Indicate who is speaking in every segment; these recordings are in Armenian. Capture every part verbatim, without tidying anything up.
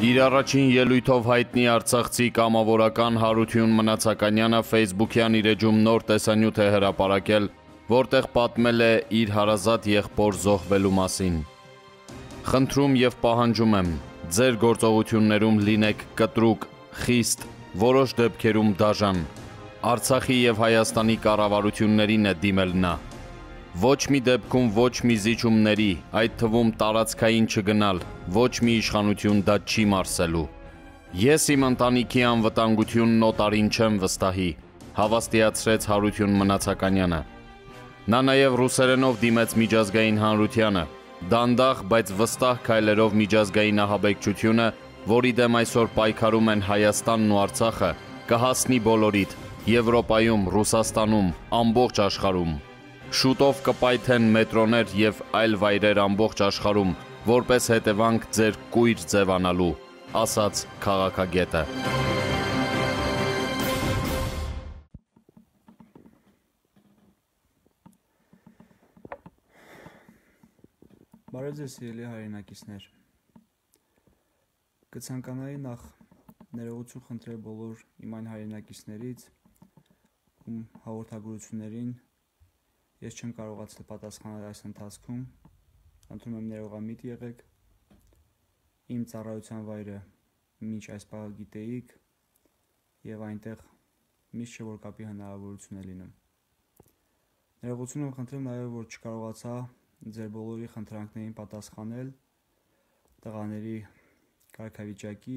Speaker 1: Իր առաջին ելույթով հայտնի արցախցի կամավորական Հարություն Մնացականյանը Facebook-յան իր էջում նոր տեսանյութ է հրապարակել, որտեղ պատմել է իր հարազատ եղբոր զոհվելու մասին։ Խնդրում և պահանջում եմ, ձեր գործողություններում լինեք կտրուկ, խիստ, որոշ դեպքերում դաժան։ Արցախի և Հայաստանի կառավարություններին է դիմել նա։ Ոչ մի դեպքում ոչ մի զիջումների, այդ թվում տարածքային չգնալ, ոչ մի իշխանություն դա չի մարսելու։ Ես իմ ընտանիքի անվտանգությունն օտարին չեմ վստահի, հավաստիացրեց Հարություն Մնացականյանը։ Նա նաև ռուսերենով դիմեց միջազգային հանրությանը, դանդաղ, բայց վստահ քայլերով միջազգային ահաբեկչությունը, որի դեմ այսօր պայքարում են Հայաստանն ու Արցախը, կհասնի բոլորիդ, Եվրոպայում, Ռուսաստանում, ամբողջ աշխարհում։ Շուտով կպայթեն մետրոներ և այլ վայրեր ամբողջ աշխարհում, որպես հետևանք ձեր կույր ձևանալու, ասաց քաղաքագետը։
Speaker 2: Բարև ձեզ սիրելի հայրենակիցներ։ Կցանկանայի նախ ներողություն խնդրել բոլոր իմ այն հայրենակիցներից, ում հաղորդագրություններին ես չեմ կարողացել պատասխանել այս ընթացքում, խնդրում եմ ներողամիտ եղեք, իմ ծառայության վայրը մինչ այս պահը գիտեիք և այնտեղ միշտ չէ որ կապի հնարավորություն է լինում։ Ներողություն եմ խնդրում նաև, որ չկարողացա ձեր բոլորի խնդրանքներին պատասխանել տղաների կարգավիճակի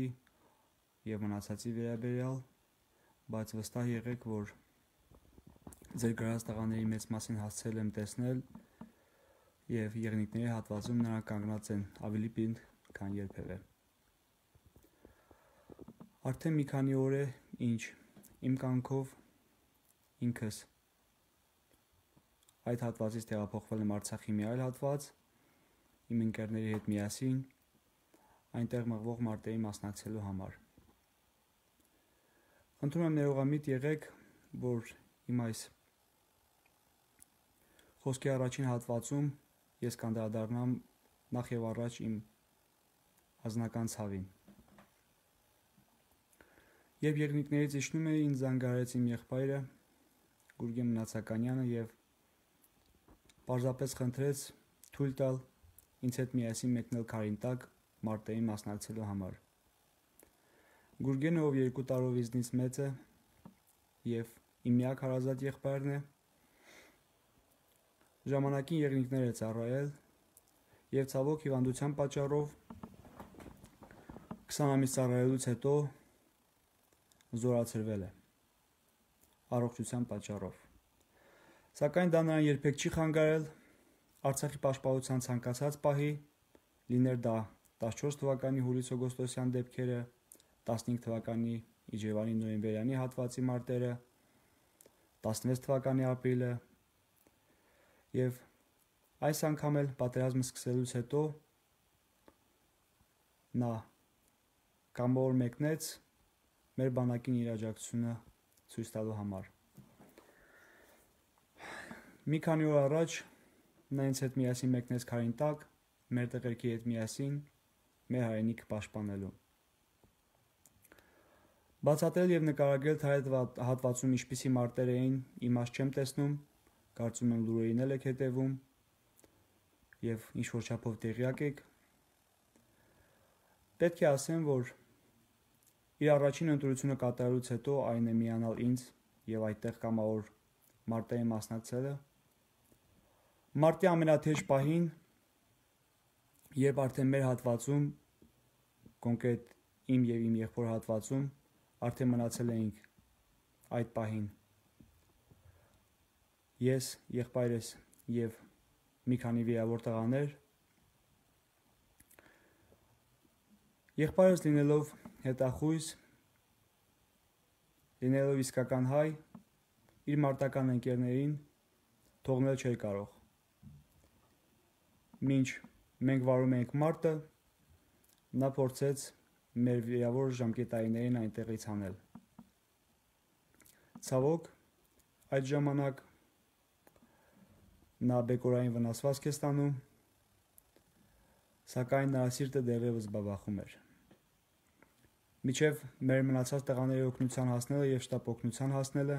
Speaker 2: և մնացածի վերաբերյալ, բայց վստահ եղեք, որ ձեր գրած տղաների մեծ մասին հասցրել եմ տեսնել և եղնիկների հատվածում նրանք կանգնած են ավելի պինդ, քան երբևէ։ Արդեն մի քանի օր է, ինչ իմ կամքով ինքս այդ հատվածից տեղափոխվել եմ Արցախի մի այլ հատված, իմ ընկերների հետ միասին, այնտեղ մղվող մարտերի մասնակցելու համար։ Խնդրում եմ ներողամիտ եղեք, որ իմ այս խոսքի առաջին հատվածում ես կանդրադառնամ նախ և առաջ իմ ազնական ցավին։ Երբ եղնիկներից իջնում էի, ինձ զանգահարեց իմ եղբայրը Գուրգեն Մնացականյանը և պարզապես խնդրեց թույլ տալ ինձ հետ միասին մեկնել Քարինտակ մարտերին մասնակցելու համար։ Գուրգենը, ով երկու տարով ինձնից մեծ է և իմ միակ հարազատ եղբայրն է, ժամանակին եղնիկներ է ծառայել և ցավոք հիվանդության պատճառով քսան ամիս ծառայելուց հետո զորացրվել է առողջության պատճառով։ Սակայն դա նրան երբեք չի խանգարել Արցախի պաշտպանության ցանկացած պահի, լիներ դա տասնչորս թվականի հուլիս-օգոստոսյան դեպքերը, տասնհինգ թվականի իջևանի-նոյեմբերյանի հատվածի մարտերը, տասնվեց թվականի ապրիլը և այս անգամ էլ պատերազմը սկսելուց հետո նա կամավոր մեկնեց մեր բանակին իր աջակցությունը ցույց տալու համար։ Մի քանի օր առաջ նա ինձ հետ միասին մեկնեց Քարինտակ, մեր տղերքի հետ միասին մեր հայրենիքը պաշտպանելու։ Բացատրել և նկարագրել թե այդ հատվածում ինչպիսի մարտեր էին, իմաստ չեմ տեսնում, կարծում եմ լուրերին էլ եք հետևում և ինչ-որ չափով տեղյակ եք։ Պետք է ասեմ, որ իր առաջին ընտրությունը կատարելուց հետո այն է միանալ ինձ և այդտեղ կամավոր մարտերին մասնակցելը։ Մարտի ամենաթեժ պահին, երբ արդեն մեր հատվածում, կոնկրետ իմ և իմ եղբոր հատվածում, արդեն մնացել էինք այդ պահին ես, եղբայրս և մի քանի վիրավոր տղաներ, եղբայրս լինելով հետախույզ, լինելով իսկական հայ, իր մարտական ընկերներին թողնել չէր կարող։ Մինչ մենք վարում էինք մարտը, նա փորձեց մեր վիրավոր ժամկետայիններին այնտեղից հանել։ Ցավոք, այդ ժամանակ նա բեկորային վնասվածք է ստանում, սակայն նրա սիրտը դեռևս բաբախում էր։ Միջև մեր մնացած տղաների օգնության հասնելը եւ շտապ օգնության հասնելը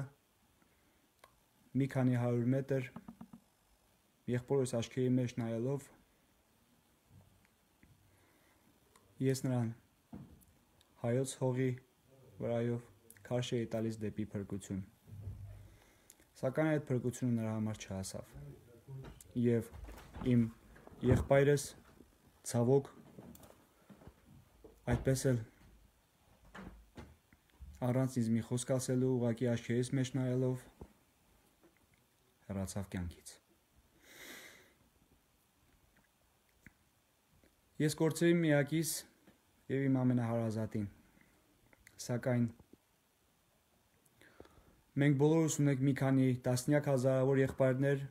Speaker 2: մի քանի հարյուր մետր եղբորս աչքերի մեջ նայելով ես նրան հայոց հողի վրայով քարշ էի տալիս դեպի փրկություն, սակայն այդ փրկությունը նրա համար չհասավ եւ իմ եղբայրս ցավոք այդպես էլ առանց ինձ մի խոսք ասելու ուղղակի աչքերիս մեջ նայելով հեռացավ կյանքից։ Ես կորցրի միակիս եւ իմ ամենահարազատին, սակայն մենք բոլորս ունենք մի քանի տասնյակ հազարավոր եղբայրներ,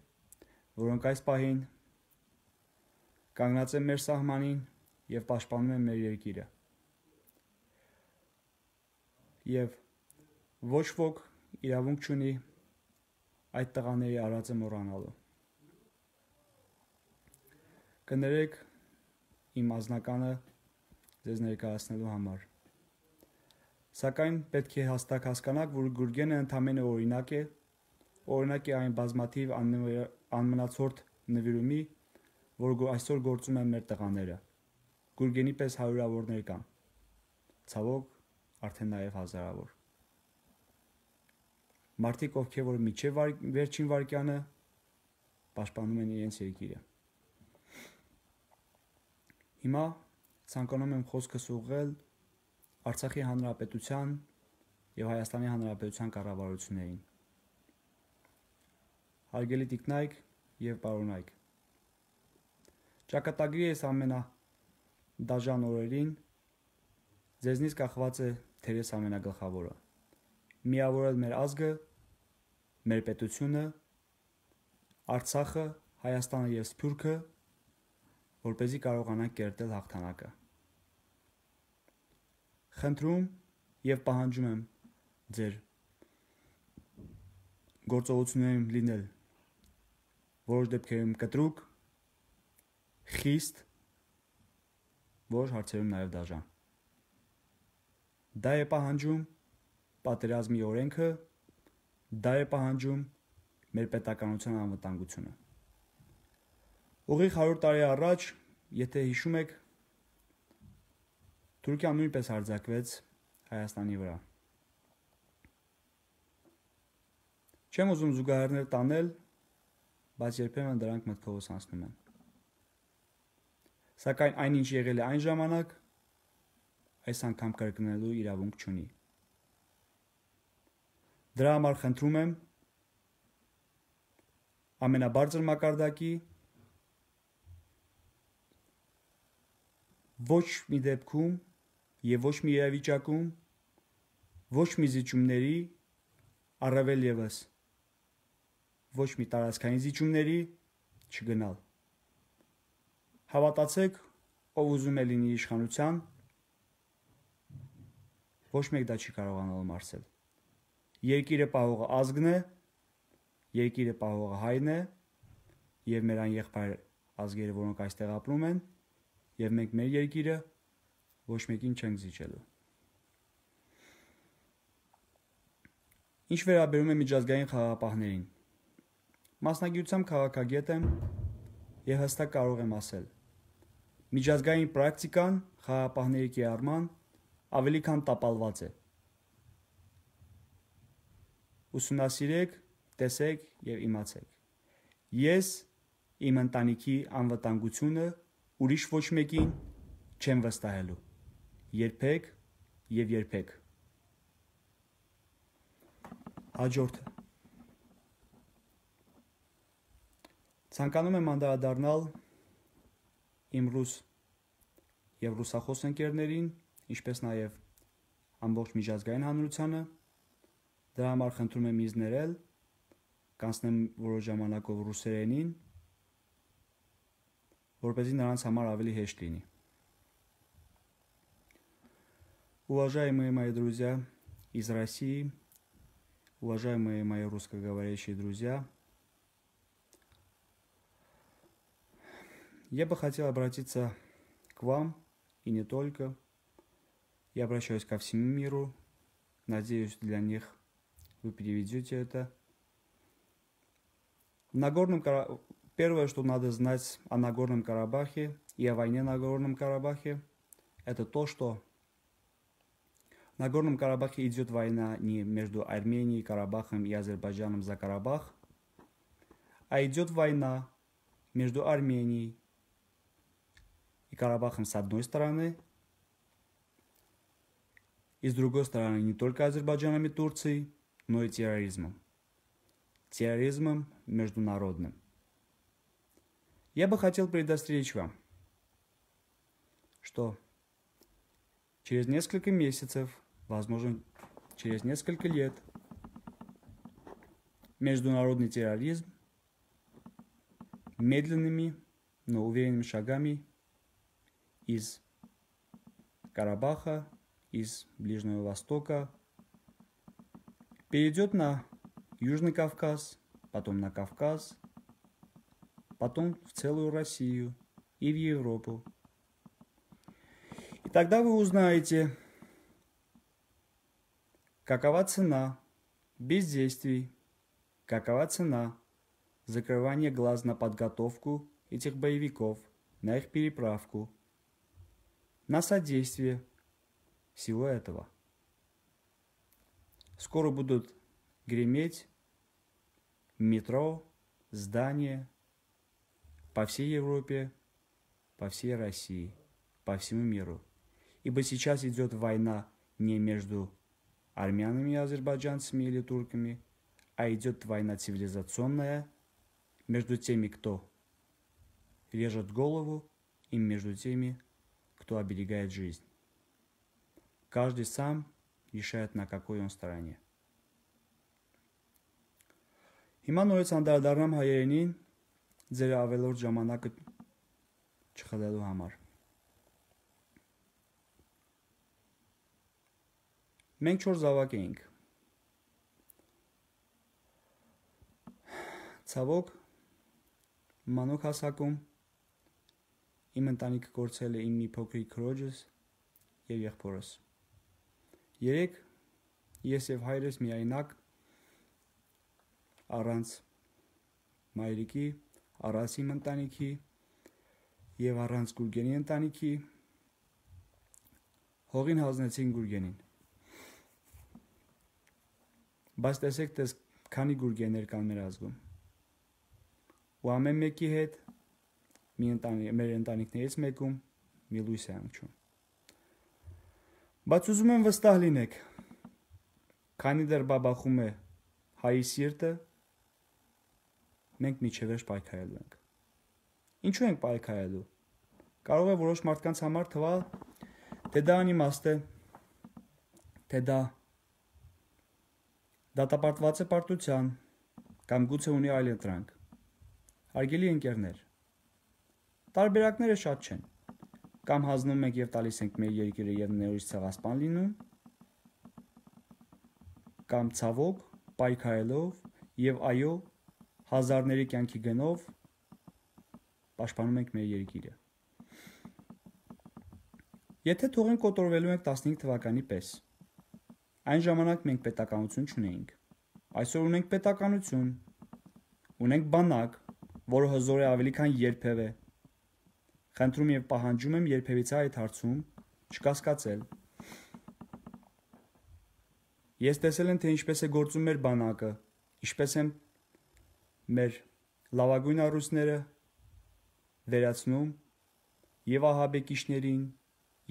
Speaker 2: որոնք այս պահին կանգնած են մեր սահմանին եւ պաշտպանում են մեր երկիրը։ Եվ ոչ ոք իրավունք չունի այդ տղաների արածը մոռանալու։ Կներեք իմ անձնականը ձեզ ներկայացնելու համար։ Սակայն պետք է հաստատ հասկանաք, որ Գուրգենը ընդամենը օրինակ է, օրինակ է այն բազմաթիվ անմնացորդ նվիրումի, որ այսօր գործում են մեր տղաները։ Գուրգենի պես հարյուրավորներ կան, ցավոք արդեն նաև հազարավոր։ Մարդիկ, ովքեր որ միջև վար, վերջին վարկյանը պաշտպանում են իրենց երկիրը։ Հիմա ցանկանում եմ խոսքս ուղղել Արցախի Հանրապետության եւ Հայաստանի Հանրապետության կառավարություններին։ Հարգելի տիկնայք եւ պարոնայք, ճակատագրի այս ամենա դաժան օրերին ձեզնից կախված է թերես ամենագլխավորը՝ միավորել մեր ազգը, մեր պետությունը, Արցախը, Հայաստանը եւ Սփյուռքը, որպեսզի կարողանանք կերտել հաղթանակը։ Խնդրում եւ պահանջում եմ ձեր գործողություններում լինել որոշ դեպքերում կտրուկ, խիստ, որոշ հարցերում նաեւ դաժան։ Դա է պահանջում պատերազմի օրենքը, դա է պահանջում մեր պետականության անվտանգությունը։ Ուղիղ հարյուր տարի առաջ, եթե հիշում եք, Թուրքիան նույնպես հարձակվեց Հայաստանի վրա։ Չեմ ուզում զուգահեռներ տանել, բայց երբեմն դրանք մտքովս անցնում են։ Սակայն այնինչ եղել է այն ժամանակ, այս անգամ կրկնելու իրավունք չունի։ Դրա համար խնդրում եմ ամենաբարձր մակարդակի ոչ մի դեպքում եւ ոչ մի իրավիճակում ոչ մի զիջումների, առավել ևս ոչ մի տարածքային զիջումների չգնալ։ Հավատացեք, ով ուզում է լինի իշխանության, ոչ մեկ դա չի կարողանալ մարսել։ Երկիրը պահողը ազգն է, երկիրը պահողը հայն է եւ մեր այն եղբայր ազգերը, որոնք այստեղ ապրում են, եւ մենք մեր երկիրը ոչ մեկին չենք զիջելու։ Ինչ վերաբերում է միջազգային խաղաղապահներին, մասնագիտությամբ քաղաքագետ եմ եւ հստակ կարող եմ ասել. միջազգային պրակտիկան խաղաղապահների կիրառման ավելի քան տապալված է։ Ուսումնասիրեք, տեսեք եւ իմացեք։ Ես իմ ընտանիքի անվտանգությունը ուրիշ ոչ մեկին չեմ վստահելու։ Երբեք եւ երբեք։ Հաջորդը։ Ցանկանում եմ անդրադառնալ իմ ռուս եւ ռուսախոս ընկերներին, ինչպես նաեւ ամբողջ միջազգային հանրությանը։ Դրա համար խնդրում եմ ինձ ներել, կանցնեմ որոշ ժամանակով ռուսերենին, որպեսզի նրանց համար ավելի հեշտ լինի։ Уважаемые мои друзья из России, уважаемые мои русскоговорящие друзья, я бы хотел обратиться к вам, и не только. Я обращаюсь ко всему миру. Надеюсь, для них вы переведете это. В Нагорном Кара... Первое, что надо знать о Нагорном Карабахе и о войне на Нагорном Карабахе, это то, что в Нагорном Карабахе идет война не между Арменией, Карабахом и Азербайджаном за Карабах, а идет война между Арменией и Карабахом с одной стороны, и с другой стороны не только Азербайджаном и Турцией, но и терроризмом. Терроризмом международным. Я бы хотел предостеречь вам, что через несколько месяцев, возможно, через несколько лет, международный терроризм медленными, но уверенными шагами из Карабаха, из Ближнего Востока перейдет на Южный Кавказ, потом на Кавказ, потом в целую Россию и в Европу. И тогда вы узнаете, какова цена бездействий, какова цена закрывания глаз на подготовку этих боевиков, на их переправку, на содействие всего этого. Скоро будут греметь метро, здания по всей Европе, по всей России, по всему миру. Ибо сейчас идет война не между армянами и азербайджанцами или турками, а идет война цивилизационная между теми, кто режет голову, и между теми, кто оберегает жизнь. Каждый сам решает, на какой он стороне. Հիմա նորից անդրադառնամ հայերենին ձեր ավելորդ ժամանակը չխլելու համար։ Մենք չոր զավակ էինք։ Ցավոք, մանուկ հասակում իմ ընտանիքը կորցրել է իմ մի փոքրիկ քրոջս եւ եղբորս։ Երեք ես եւ հայրս միայնակ առանց մայրիկի, առանց իմ ընտանիքի եւ առանց Գուրգենի ընտանիքի հողին հանձնեցին Գուրգենին։ Բայց տեսեք, տես քանի Գուրգեններ կան մեր ազգում։ Ու ամեն մեկի հետ մի ընտանիք, մեր ընտանիքներից մեկում մի լույս է հանգչում։ Բայց ուզում եմ վստահ լինեք, քանի դեռ բաբախում է հայի սիրտը, մենք միջևերջ պայքարելու ենք։ Ինչու ենք պայքարելու։ Կարող է որոշ մարդկանց համար թվա, թե դա անիմաստ է, թե դա դատապարտված է պարտության, կամ գուցե ունի այլ ընտրանք։ Հարգելի ընկերներ, տարբերակները շատ չեն։ Կամ հանձնում ենք եւ տալիս ենք մեր երկիրը եւ նորից ցեղասպան լինում, կամ ցավոք պայքարելով եւ այո հազարների կյանքի գնով պաշտպանում ենք մեր երկիրը։ Եթե թողին կոտորվելու ենք տասնհինգ թվականի պես, այն ժամանակ մենք պետականություն չունեինք։ Այսօր ունենք պետականություն, ունենք բանակ, որը հզոր է ավելի քան երբևէ։ Խնդրում եւ պահանջում եմ երբևիցե այդ հարցում չկասկածել։ Ես տեսել եմ, թե ինչպես է գործում մեր բանակը, ինչպես են մեր լավագույն առույցները վերացնում եւ ահաբեկիչներին,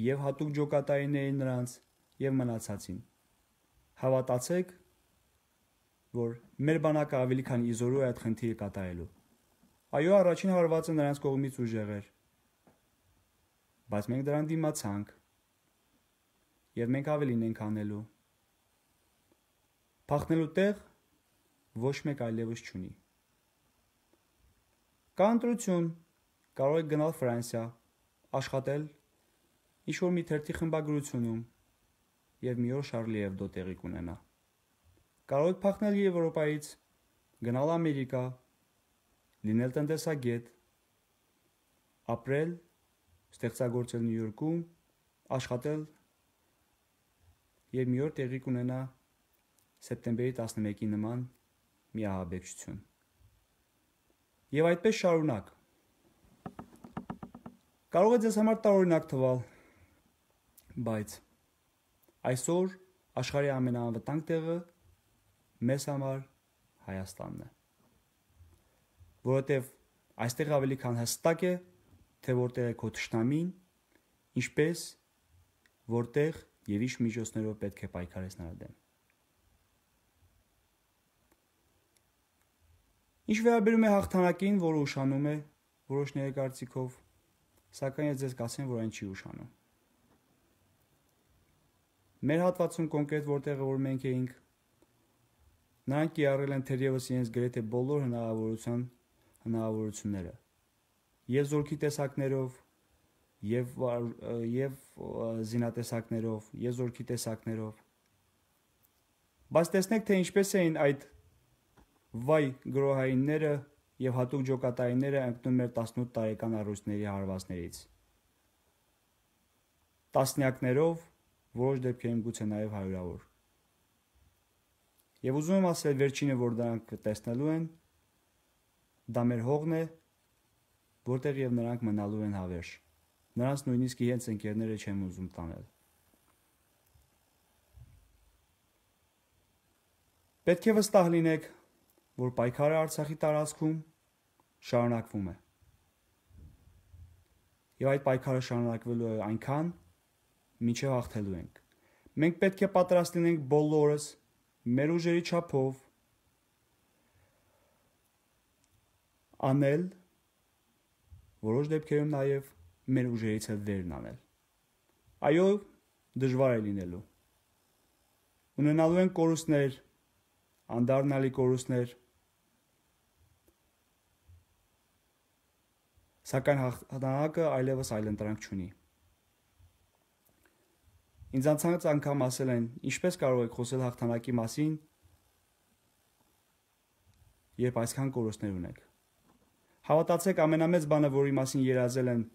Speaker 2: եւ հատուկ ջոկատայիներին նրանց, եւ մնացածին։ Հավատացեք, որ մեր բանակը ավելի քան իզորու է այդ խնդիրը կատարելու։ Այո, առաջին հարվածը նրանց կողմից ուժեղ էր, բայց մենք դրան դիմացանք, եւ մենք ավելին ենք անելու։ Փախնելու տեղ ոչ մեկ այլևս չունի։ Կա ընտրություն, կարող եք գնալ Ֆրանսիա, աշխատել ինչ-որ մի թերթի խմբագրությունում եւ մի օր Շարլի Էբդո տեղի կունենա։ Կարող եք փախնել Եվրոպայից, գնալ Ամերիկա, լինել տնտեսագետ, ապրել, ստեղծագործել Նյու Յորքում, աշխատել եւ մի օր տեղի կունենա սեպտեմբերի տասնմեկի նման մի ահաբեկչություն։ Եվ այդպես շարունակ։ Կարող է ձեզ համար տարօրինակ թվալ, բայց այսօր աշխարհի ամենաանվտանգ տեղը մեզ համար Հայաստանն է։ Որովհետև այստեղ ավելի քան հստակ է, թե որտեղ է քո թշնամին, ինչպես, որտեղ եւ ինչ միջոցներով պետք է պայքարես նրա դեմ։ Ինչ վերաբերում է հաղթանակին, որը ուշանում է որոշների կարծիքով, սակայն ես ձեզ կասեմ, որ այն չի ուշանում։ Մեր հատվածում կոնկրետ որտեղը որ մենք էինք, նրանք կիրառել են թերևս իրենց գրեթե բոլոր հնարավորության հնարավորությունները եւ զորքի տեսակներով եւ եւ զինատեսակներով եւ զորքի տեսակներով, բայց տեսնեք թե ինչպես էին այդ վայ գրոհայինները եւ հատուկ ջոկատայինները ընկնում մեր տասնութ տարեկան առույցների հարվածներից, տասնյակներով, որոշ դեպքերում գուցե նաեւ հարյուրավոր։ Եվ ուզում եմ ասել, վերջինը, որ դրանք տեսնելու են, դա մեր հողն է, որտեղ եւ նրանք մնալու են հավերժ։ Նրանց նույնիսկ իրենց ընկերները չեմ ուզում տանել։ Պետք է վստահ լինեք, որ պայքարը Արցախի տարածքում շարունակվում է։ Եվ այդ պայքարը շարունակվելու է այնքան, մինչև հաղթելու ենք։ Մենք պետք է պատրաստ լինենք բոլորս մեր ուժերի չափով անել, որոշ դեպքերում նաև մեր ուժերից էլ վերն անել։ Այո, դժվար է լինելու։ Ունենալու են կորուստներ, անդառնալի կորուստներ, սակայն հաղթանակը այլևս այլընտրանք չունի։ Ինձ անցած անգամ ասել են, ինչպես կարող եք խոսել հաղթանակի մասին, երբ այսքան կորուստներ ունեք։ Հավատացեք, ամենամեծ բանը, որի մասին երազել են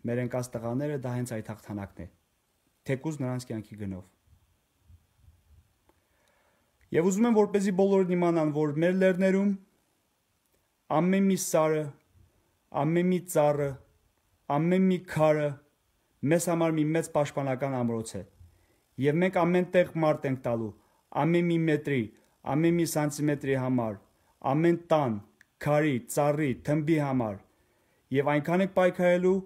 Speaker 2: մեր ընկած տղաները, դա հենց այդ հաղթանակն է, թեկուզ նրանց կյանքի գնով։ Եվ ուզում եմ, որպեսզի բոլորն իմանան, որ մեր լեռներում ամեն մի սարը, ամեն մի ծառը, ամեն մի քարը մեզ համար մի մեծ պաշտպանական ամրոց է։ Եվ մենք ամեն տեղ մարդ ենք տալու, ամեն մի մետրի, ամեն մի սանտիմետրի համար, ամեն տան, քարի, ծառի, թմբի համար, եւ այնքան ենք պայքարելու,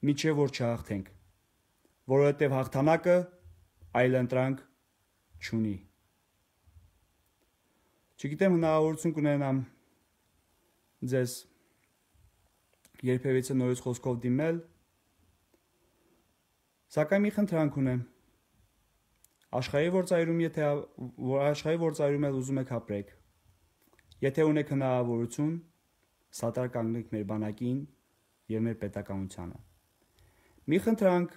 Speaker 2: մինչեւ որ չհաղթենք, որովհետեւ հաղթանակը այլընտրանք չունի։ Չգիտեմ հնարավորություն կունենամ ձեզ երբևիցե նորից խոսքով դիմել, սակայն մի խնդրանք ունեմ։ Աշխարհի գործայրում, եթե որ աշխարհի գործայրում էլ ուզում եք ապրեք, եթե ունեք հնարավորություն, սատար կանգնեք մեր բանակին եւ մեր պետականությանը։ Մի խնդրանք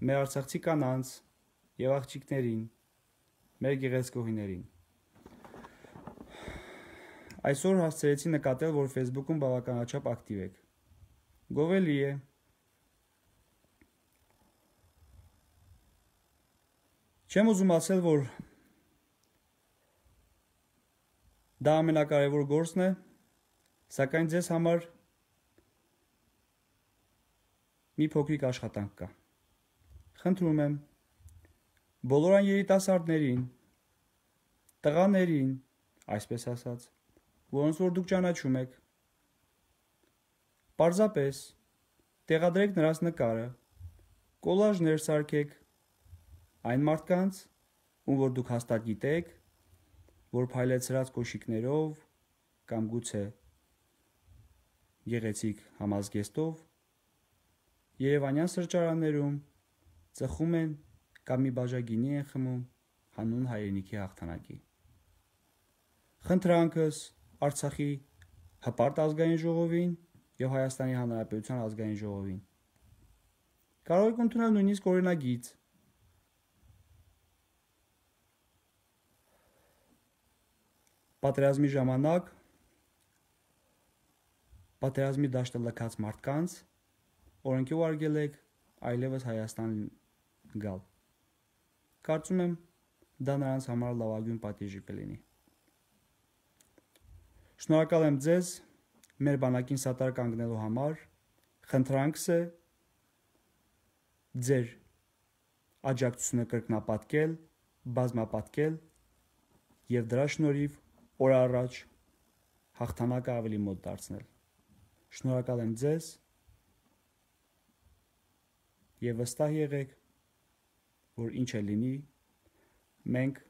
Speaker 2: մեր արցախցի կանանց եւ աղջիկներին, մեր գեղեցկուհիներին։ Այսօր հասցրեցի նկատել, որ Facebook-ում բավականաչափ ակտիվ եք։ Գովելի է։ Չեմ ուզում ասել, որ դա ամենակարևոր գործն է, սակայն ձեզ համար մի փոքրիկ աշխատանք կա։ Խնդրում եմ բոլոր այն երիտասարդներին, տղաներին, այսպես ասած, որոնց որ դուք ճանաչում եք, պարզապես տեղադրեք նրանց նկարը, կոլաժներ սարքեք այն մարդկանց, ում որ դուք հաստատ գիտեք, որ փայլեցրած կոշիկներով կամ գուցե գեղեցիկ համազգեստով Երևանյան սրճարաններում ծխում են կամ մի բաժագինի են խմում հանուն հայրենիքի հաղթանակի։ Խնդրանքս Արցախի հպարտ ազգային ժողովին եւ Հայաստանի Հանրապետության ազգային ժողովին։ Կարող եք ընդունել նույնիսկ օրինագիծ։ Պատերազմի ժամանակ պատերազմի դաշտը լքած մարդկանց օրենքի ուղարկել եք այլևս Հայաստան գալ։ Կարծում եմ, դա նրանց համար լավագույն պատիժը կլինի։ Շնորհակալ եմ ձեզ մեր բանակին սատար կանգնելու համար, խնդրանքս է ձեր աջակցությունը կրկնապատկել, բազմապատկել և դրա շնորհիվ օր առաջ հաղթանակը ավելի մոտ դարձնել։ Շնորհակալ եմ ձեզ և վստահ եղեք, որ ինչ է լինի, մենք